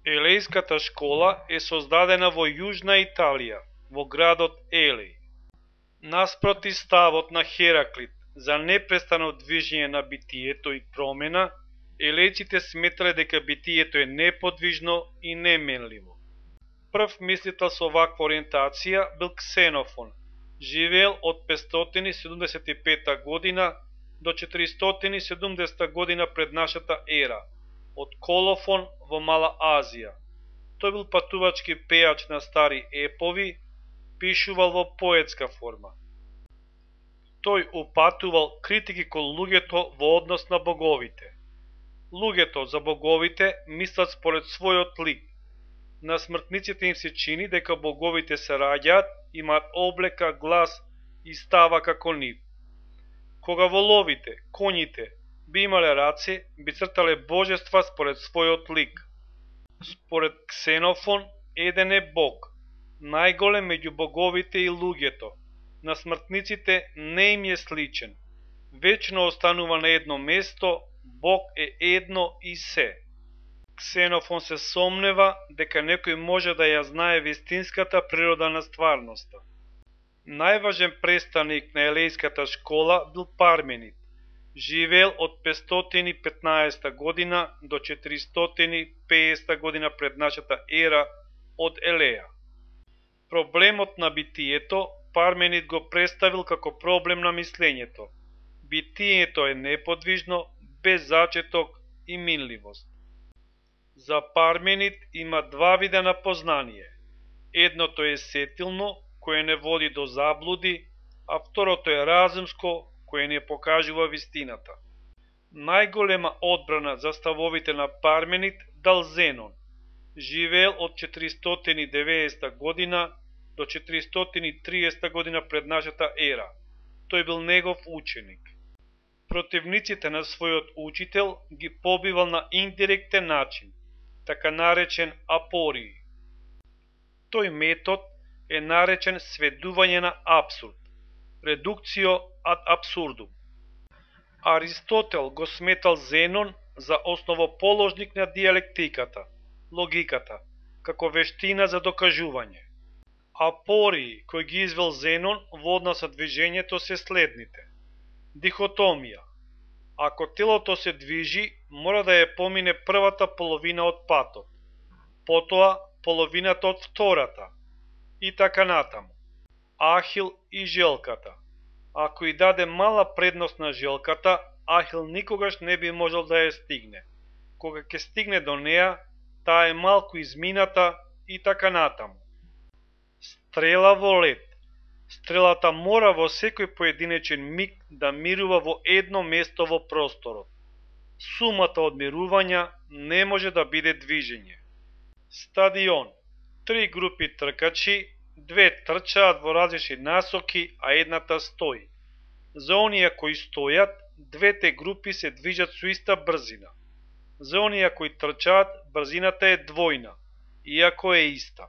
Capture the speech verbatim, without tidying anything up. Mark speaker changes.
Speaker 1: Елејската школа е создадена во Јужна Италија, во градот Елеј. Наспроти ставот на Хераклит за непрестано движење на битието и промена, елејците сметале дека битието е неподвижно и неменливо. Прв мислител со ваква ориентација бил Ксенофон, живеел од петстотини седумдесет и пета година до четиристотини седумдесета година пред нашата ера, од Колофон во Мала Азија. Тој бил патувачки пејач на стари епови, пишувал во поетска форма. Тој упатувал критики кон луѓето во однос на боговите. Луѓето за боговите мислат според својот лик. На смртниците им се чини дека боговите се раѓаат, имаат облека, глас и става како нив. Кога воловите, коњите би имале раце, би цртале божества според својот лик. Според Ксенофон, еден е Бог, најголем меѓу боговите и луѓето. На смртниците не им е сличен. Вечно останува на едно место, Бог е едно и се. Ксенофон се сомнева дека некој може да ја знае вистинската природа на стварноста. Најважен представник на елејската школа бил Парменид. Живеел од петстотини и петнаесета година до четиристотини и педесета година пред нашата ера од Елеја. Проблемот на битието Парменид го представил како проблем на мислењето. Битието е неподвижно, без зачеток и минливост. За Парменид има два вида на познание. Едното е сетилно, кое не води до заблуди, а второто е разумско, кое не покажува вистината. Најголема одбрана за ставовите на Парменид дал Зенон. Живеел од четиристотини и деветдесета година до четиристотини и триесета година пред нашата ера. Тој бил негов ученик. Противниците на својот учител ги побивал на индиректен начин, така наречен апории. Тој метод е наречен сведување на апсурд, редукцио ад абсурдум. Аристотел го сметал Зенон за основоположник на диалектиката, логиката, како вештина за докажување. Апории кои ги извел Зенон во однос со движењето се следните. Дихотомија. Ако телото се движи, мора да ја помине првата половина од патот, потоа половината од втората, и така натаму. Ахил и желката. Ако и даде мала предност на желката, Ахил никогаш не би можел да ја стигне. Кога ќе стигне до неа, таа е малку измината и така натаму. Стрела во лед. Стрелата мора во секој поединечен миг да мирува во едно место во просторот. Сумата од мирувања не може да биде движење. Стадион. Три групи тркачи, две трчаат во различни насоки, а едната стои. За оние кои стојат, двете групи се движат со иста брзина. За оние кои трчаат, брзината е двојна, иако е иста.